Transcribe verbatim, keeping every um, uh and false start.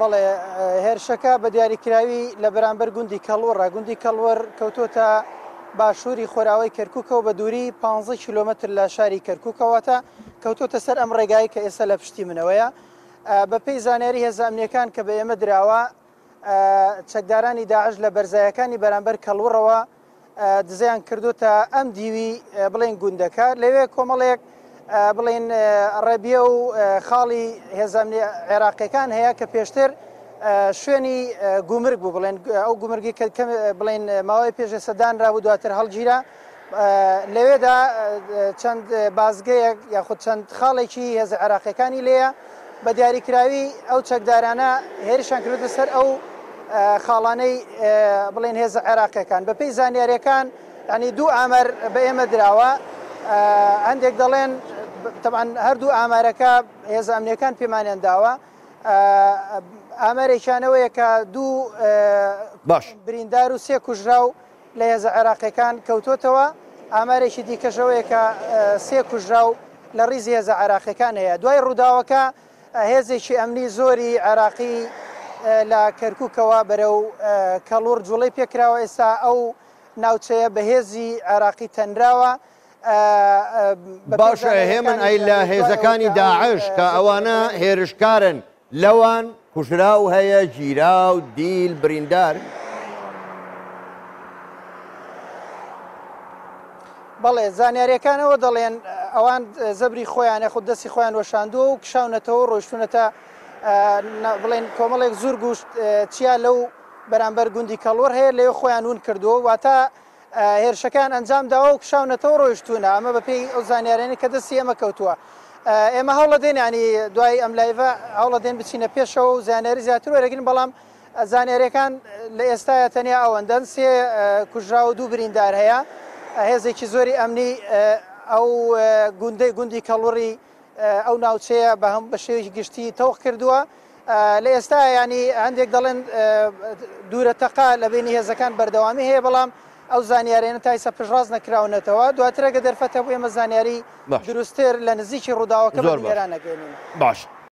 بەڵێ، هێرشەکە بە دیاریکراوی لە بەرامبەر گوندی کەڵوڕە. گوندی کەڵوڕ کەوتۆتە باشووری خۆراوای کەرکووکەوە بە دووری پانزە کیلۆمەتر لە شاری کەرکووکەوەتە کەوتۆتە سەر ئەم ڕێگای کە ئێستا لە پشتی منەوەیە. بەپێی زانیاری هێزە ئەمنیەکان کە بە ئێمە دراوە، چەکدارانی داعش لە بەرزایەکانی بەرامبەر کەڵوڕەوە دزیان کردوتە ئەم دیوی بڵێن گوندەکە. لەوێ کۆمەڵێک بڵێن ڕێبیە و خاڵی هێزە عێراقیەکان هەیە کە پێشتر شوێنی گومرگ بوو، بڵێن ئەو گومرگی کە بڵێن ماوەی پێش سەدان رابوو دواتر هەڵگیرا. لەوێدا چەند بازگەیەک یاخود چەند خاڵێکی هێزە عێراقیەکانی لێیە. بە دیاریکراوی ئەو چەکدارانە هێرشان کردوتە سەر ئەو خاڵانەی بڵێن هێزە عێراقیەکان. بەپێی زانیاریەکان ینی دوو ئامار بە ئێمە دراوە. هەندێک دەڵێن طبعا هەردوو ئامارەکە هێزە ئەمنیەکان پێمانیان داوە. ئامارێکیانەوەیە کە دوو باش بریندار و سێ کوژراو لە هێزە عێراقیەکان کەوتۆتەوە. ئامارێکی دیکەشەوەیە کە سێ کوژراو لە ڕیزی هێزە عێراقیەکان هەیە. دوای ڕووداوەکە هێزێکی ئەمنی زۆری عێراقی لە کەرکووکەوە بەرەو کەڵوڕ جوڵەی پێکراوە. ئێستا ئەو ناوچەیە بە هێزی عێراقی تەنراوە. باشە هێمن، ئەی لە هێزەکانی داعش کە ئەوانە هێرشکارن لەوان کوژراو هەیە، گیراو، دیل، بریندار؟ بەڵێ، زانیاریەکانەوە دەڵێن ئەوان زەبری خۆیان یاخود دەستی خۆیان وەشاندووە و کشاونەتەوە ڕۆیشتونەتە بڵێن کۆمەڵێک زۆر گوشت چیا لەو بەرامبەر گوندی کەڵوڕ هەیە لەوێ خۆیان ون کردووە، واتە هێرشەکان ئەنجام داوە و کشاونەتەوە ڕۆیشتونە. ئەمە بەپێی ئەو زانیاریانەی کە دەستی ئێمە کەوتووە. ئێمە هەوڵە دێن ینی دوای ئەم لایڤە هەوڵە دێن بچینە پێشەوە و زانیاری زیاتر وەرەگرن، بەڵام زانیاریەکان لە ئێستاە تەنیا ئەوەندەن. سێ کوژرا و دوو بریندار هەیە. هێزێکی زۆری ئەمنی ئەو گوندەی گوندی کەڵوڕی ئەو ناوچەیە بە هەم بە شێوەیەکی گشتی تەوق کردووە. لە ئێستا ینی هەندێک دەڵێن دوورە تەقا لە بینی هێزەکان بەردەوامی هەیە، بەڵام ئەو زانیاریانە تا ئێستا پشتڕاست نەکراونەتەوە. دواتر ئەگە دەرفەت هەبوو ئێمە زانیاری دروستتر لە نزیکی ڕووداوەکە بە بینەران نەگەێنین. باش.